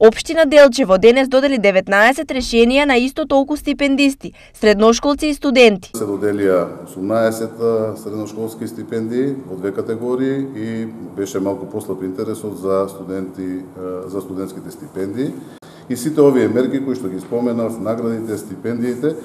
Општина Делчево денес додели 19 решенија на исто толку стипендисти, средношколци и студенти. Се доделија 18 средношколски стипендии во две категории и беше малку послаб интересот за студентските стипендии. И сите овие мерки кои што ги споменав, наградите, стипендиите,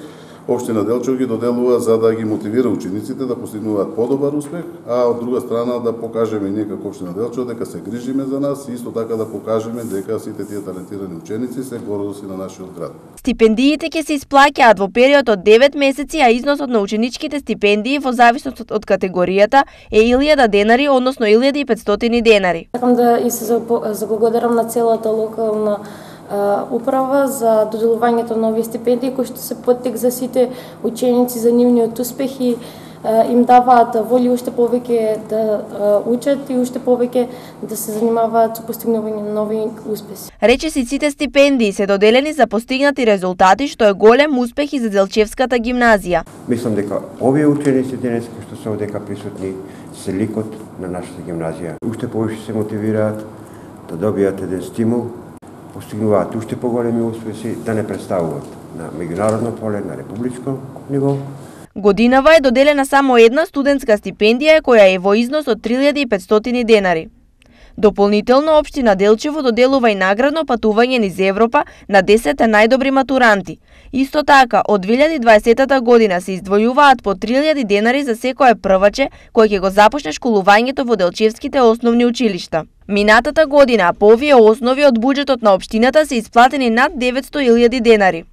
Општина Делчево ги доделува за да ги мотивира учениците да постигнуваат подобар успех, а од друга страна да покажеме ние како Општина Делчево дека се грижиме за нас и исто така да покажеме дека сите тие талентирани ученици се гордост на нашиот град. Стипендиите ќе се исплаќаат во период од 9 месеци, а износот на ученичките стипендии во зависност од категоријата е 1000 денари, односно 1500 денари. Сакам да и се заблагодарам на целата локална управа за доделувањето на овие стипендии кои што се поттик за сите ученици за нивниот успех и им даваат воли уште повеќе да учат и уште повеќе да се занимаваат со постигнување на нови успеси. Речисите стипендии се доделени за постигнати резултати, што е голем успех и за Делчевската гимназија. Мислам дека овие ученици денес кои што се овдека присутни се ликот на нашата гимназија. Уште повеќе се мотивираат да добијат еден стимул, постигнуваат уште поголеми успеси, да не представуваат на меѓународно поле, на републичко ниво. Годинава е доделена само една студентска стипендија која е во износ од 3500 денари. Дополнително, Општина Делчево доделува и наградно патување низ Европа на 10 најдобри матуранти. Исто така, од 2020 година се издвојуваат по 3000 денари за секое прваче кој ќе го започне школувањето во Делчевските основни училишта. Минатата година по овие основи од буџетот на општината се исплатени над 900.000 денари.